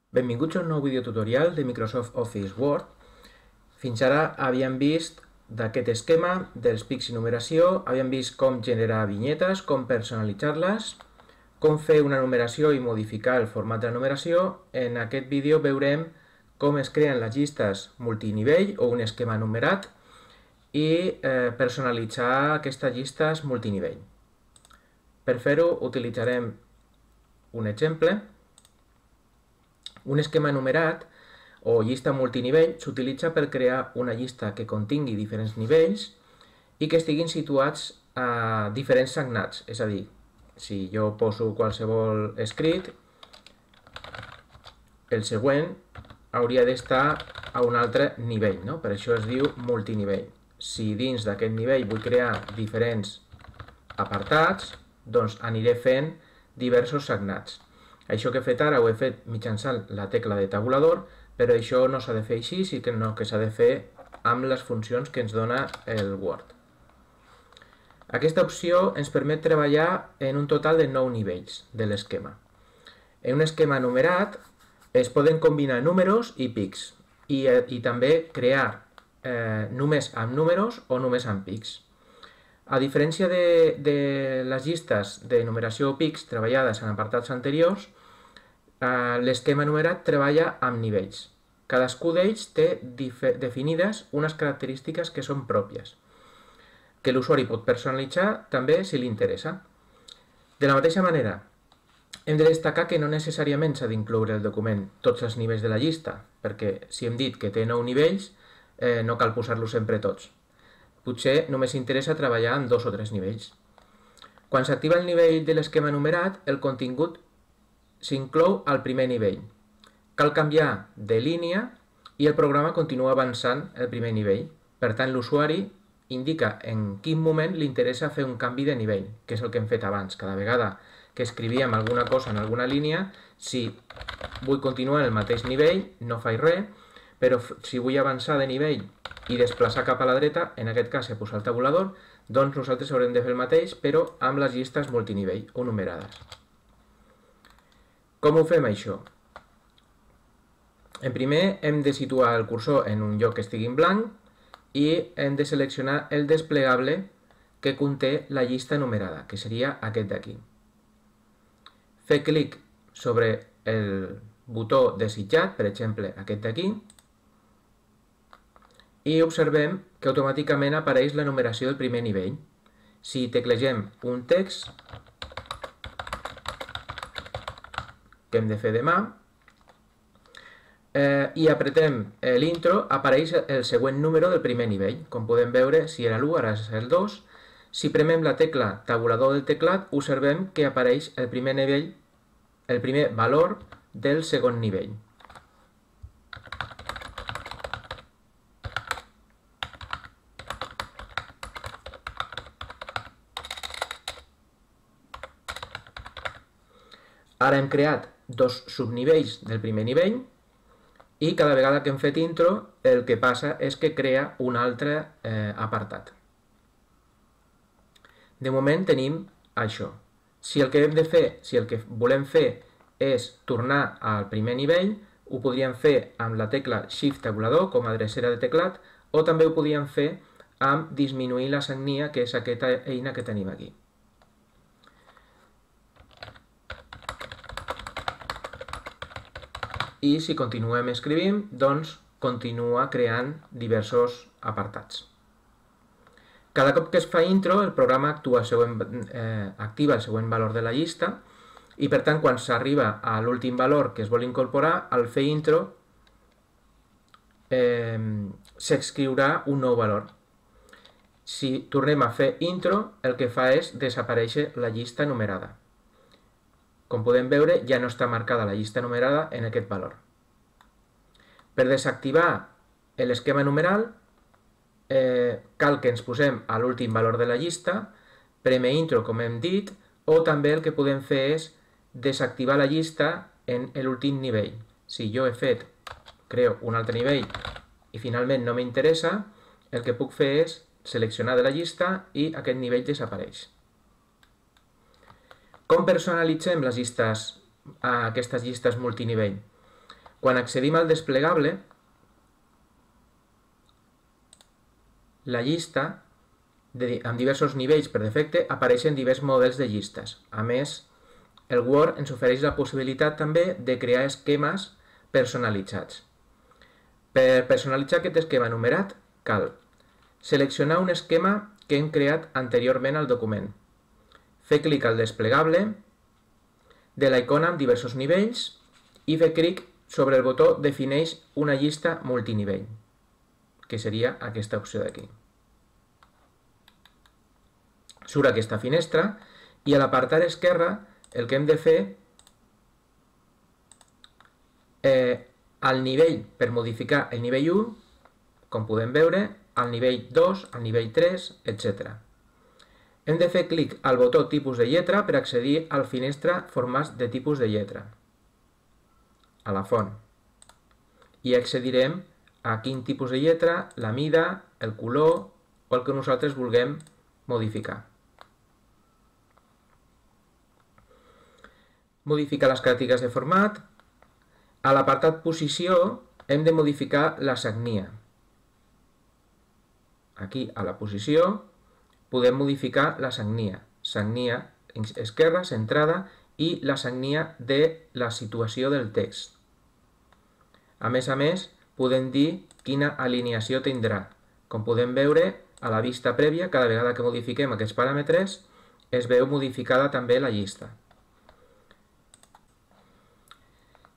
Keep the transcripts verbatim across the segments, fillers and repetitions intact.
Benvinguts a un nou videotutorial de Microsoft Office Word. Fins ara havíem vist d'aquest esquema dels pics i numeració, havíem vist com generar vinyetes, com personalitzar-les, com fer una numeració i modificar el format de la numeració. En aquest vídeo veurem com es creen les llistes multinivell o un esquema numerat i eh, personalitzar aquestes llistes multinivell. Per fer-ho utilitzarem un exemple. Un esquema numerat o llista multinivell s'utilitza per crear una llista que contingui diferents nivells i que estiguin situats a diferents sagnats. És a dir, si jo poso qualsevol escrit, el següent hauria d'estar a un altre nivell, no? Per això es diu multinivell. Si dins d'aquest nivell vull crear diferents apartats, doncs aniré fent diversos sagnats. Això que he fet ara ho he fet mitjançant la tecla de tabulador, però això no s'ha de fer així, sinó que s'ha de fer amb les funcions que ens dona el Word. Aquesta opció ens permet treballar en un total de nou nivells de l'esquema. En un esquema numerat es poden combinar números i pics i, i també crear eh, només amb números o només amb pics. A diferència de, de les llistes de numeració o pics treballades en apartats anteriors, eh, l'esquema numerat treballa amb nivells. Cadascú d'ells té definides unes característiques que són pròpies, que l'usuari pot personalitzar també si li interessa. De la mateixa manera, hem de destacar que no necessàriament s'ha d'incloure el document tots els nivells de la llista, perquè si hem dit que té nou nivells, eh, no cal posar-los sempre tots. Potser només interessa treballar amb dos o tres nivells. Quan s'activa el nivell de l'esquema numerat, el contingut s'inclou al primer nivell. Cal canviar de línia i el programa continua avançant el primer nivell. Per tant, l'usuari indica en quin moment li interessa fer un canvi de nivell, que és el que hem fet abans. Cada vegada que escrivíem alguna cosa en alguna línia, si vull continuar en el mateix nivell, no faig res, però si vull avançar de nivell i desplaçar cap a la dreta, en aquest cas he posat el tabulador, doncs nosaltres haurem de fer el mateix, però amb les llistes multinivell o numerades. Com ho fem això? En primer hem de situar el cursor en un lloc que estigui en blanc i hem de seleccionar el desplegable que conté la llista numerada, que seria aquest d'aquí. Fer clic sobre el botó desitjat, per exemple aquest d'aquí, i observem que automàticament apareix la numeració del primer nivell. Si teclegem un text, que hem de fer de mà, eh, i apretem l'intro, apareix el següent número del primer nivell. Com podem veure, si era l'u, ara és el dos. Si premem la tecla tabulador del teclat, observem que apareix el primer nivell, el primer valor del segon nivell. Ara hem creat dos subnivells del primer nivell i cada vegada que hem fet intro el que passa és que crea un altre eh, apartat. De moment tenim això. Si el que hem de fer, si el que volem fer és tornar al primer nivell, ho podríem fer amb la tecla Shift tabulador com a drecera de teclat o també ho podríem fer amb disminuir la sagnia, que és aquesta eina que tenim aquí. I si continuem escrivint, doncs continua creant diversos apartats. Cada cop que es fa intro, el programa actua el següent, eh, activa el següent valor de la llista i per tant quan s'arriba a l'últim valor que es vol incorporar, al fer intro eh, s'escriurà un nou valor. Si tornem a fer intro, el que fa és desaparèixer la llista numerada. Com podem veure, ja no està marcada la llista numerada en aquest valor. Per desactivar l'esquema numeral, eh, cal que ens posem a l'últim valor de la llista, preme intro, com hem dit, o també el que podem fer és desactivar la llista en l'últim nivell. Si jo he fet, creo un altre nivell i finalment no m'interessa, el que puc fer és seleccionar de la llista i aquest nivell desapareix. Com personalitzem les llistes, aquestes llistes multinivell? Quan accedim al desplegable, la llista, de, amb diversos nivells per defecte, apareixen diversos models de llistes. A més, el Word ens ofereix la possibilitat també de crear esquemes personalitzats. Per personalitzar aquest esquema enumerat, cal seleccionar un esquema que hem creat anteriorment al document, fer clic al desplegable de la icona amb diversos nivells i fer clic sobre el botó Defineix una llista multinivell, que seria aquesta opció d'aquí. Surt aquesta finestra i a l'apartat esquerre el que hem de fer eh, al nivell, per modificar el nivell u, com podem veure, al nivell dos, al nivell tres, etcètera. Hem de fer clic al botó Tipus de lletra per accedir al finestra Formats de tipus de lletra, a la font. I accedirem a quin tipus de lletra, la mida, el color o el que nosaltres vulguem modificar. Modificar les característiques de format. A l'apartat Posició hem de modificar la sagnia. Aquí, a la posició, podem modificar la sagnia. Sagnia esquerra, centrada, i la sagnia de la situació del text. A més a més, podem dir quina alineació tindrà. Com podem veure, a la vista prèvia, cada vegada que modifiquem aquests paràmetres, es veu modificada també la llista.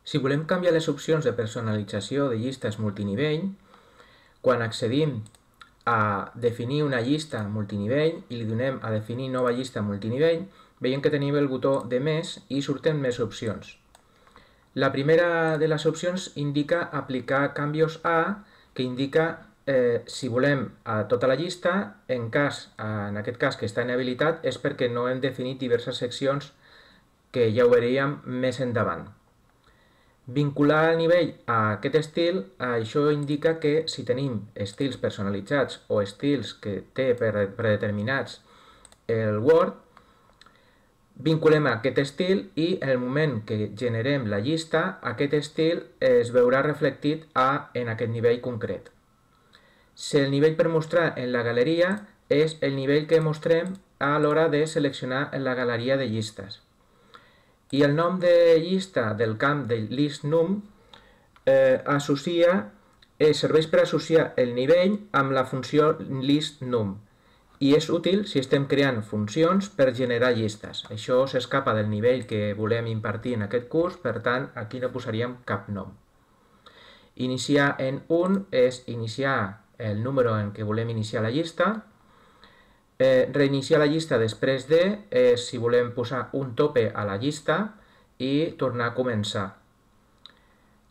Si volem canviar les opcions de personalització de llistes multinivell, quan accedim a definir una llista multinivell i li donem a definir nova llista multinivell, veiem que tenim el botó de més i surten més opcions. La primera de les opcions indica aplicar canvis a, que indica eh, si volem a tota la llista, en, cas, en aquest cas que està inhabilitat és perquè no hem definit diverses seccions que ja ho veuríem més endavant. Vincular el nivell a aquest estil, això indica que si tenim estils personalitzats o estils que té predeterminats el Word, vinculem aquest estil i en el moment que generem la llista, aquest estil es veurà reflectit a, en aquest nivell concret. Si el nivell per mostrar en la galeria és el nivell que mostrem a l'hora de seleccionar en la galeria de llistes. I el nom de llista del camp de list_num eh, associa, eh, serveix per associar el nivell amb la funció list_num i és útil si estem creant funcions per generar llistes. Això s'escapa del nivell que volem impartir en aquest curs, per tant, aquí no posaríem cap nom. Iniciar en un és iniciar el número en què volem iniciar la llista. Eh, reiniciar la llista després de, eh, si volem posar un tope a la llista i tornar a començar.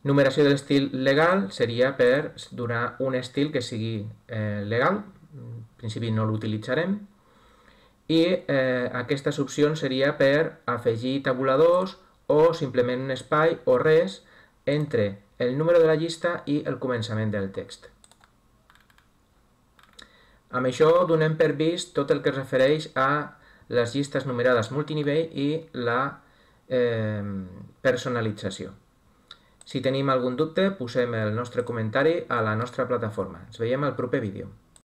Numeració de l'estil legal seria per donar un estil que sigui eh, legal, en principi no l'utilitzarem, i eh, aquestes opcions seria per afegir tabuladors o simplement un espai o res entre el número de la llista i el començament del text. Amb això donem per vist tot el que es refereix a les llistes numerades multinivell i la eh, personalització. Si tenim algun dubte, posem el nostre comentari a la nostra plataforma. Ens veiem al proper vídeo.